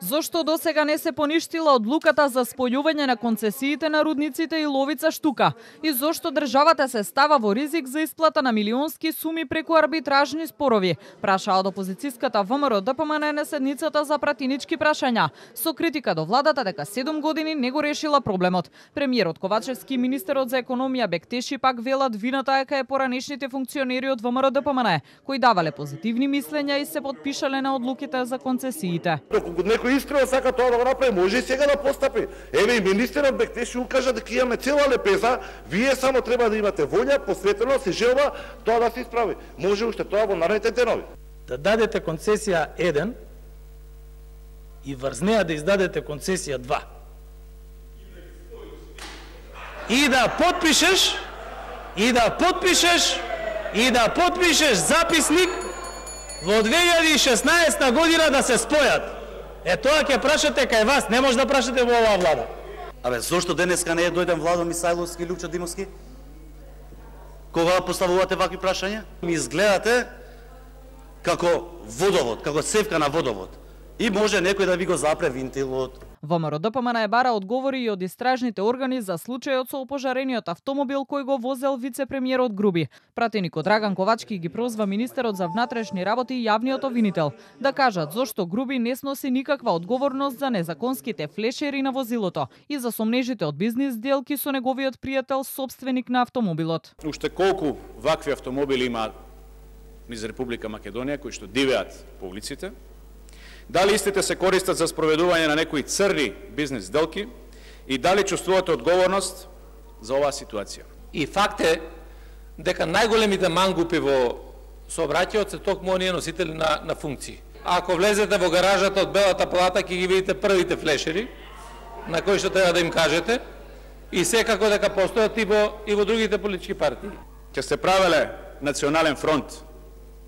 Зошто досега не се поништила одлуката за спојување на концесиите на рудниците Иловица Штука? И зошто државата се става во ризик за исплата на милионски суми преку арбитражни спорови? Прашаа од опозицијската ВМРО-ДПМН на седницата за пратинички прашања, со критика до владата дека 7 години не го решила проблемот. Премиерот Ковачевски и министерот за економија Бектеши пак велат вината е кај поранешните функционери од ВМРО-ДПМН, кои давале позитивни мислења и се подпишале на одлуките за концесиите. Некој искрено сака тоа да го направи, може и сега да постапи. Еве и министерот Бектеши укажа дека имаме цела лепеза, вие само треба да имате волја, посветеност и желба тоа да се исправи. Може уште тоа во наредните денови. Да дадете концесија 1 и врз неа да издадете концесија 2. И да подпишеш записник во 2016 година да се спојат. Тоа ќе прашате кај вас, не може да прашате во оваа влада. Абе, зошто денеска не е дојден Владо Мисајловски и Лупчо Димовски? Кога поставувате вакви прашања? Ми изгледате како водовод, како цевка на водовод. И може некој да ви го запре винтилот. ВМРО-ДПМН бара одговори и од истражните органи за случајот со опожарениот автомобил кој го возел вице-премиерот Груби. Пратеникот Драган Ковачки ги прозва министерот за внатрешни работи и јавниот обвинител да кажат зошто Груби не сноси никаква одговорност за незаконските флешери на возилото и за сомнежите од бизнис делки со неговиот пријател собственик на автомобилот. Уште колку вакви автомобили има низ Република Македонија кои што дивеат по улиците? Дали истите се користат за спроведување на некои црни бизнес сделки и дали чувствувате одговорност за оваа ситуација? И факт е дека најголемите мангупи во сообраќајот се токму оние носители на функции. Ако влезете во гаражата од Белата палата ќе ги видите првите флешери на кои што треба да им кажете и секако дека постојат и во другите политички партии. Ќе се правеле национален фронт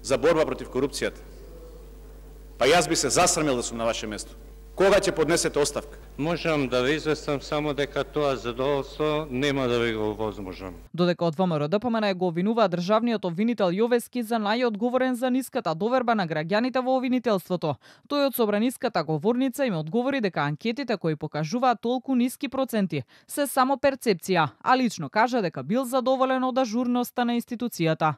за борба против корупцијата. Па јас би се засрамил да сум на ваше место. Кога ќе поднесете оставка? Можам да ви известам само дека тоа задоволство нема да ви го возможам. Додека од ВМРО-ДПМН го обвинува државниот обвинител Јовески за најодговорен за ниската доверба на граѓаните во обвинителството. Тој од собраниската говорница им одговори дека анкетите кои покажуваат толку ниски проценти се само перцепција, а лично кажа дека бил задоволен од ажурноста на институцијата.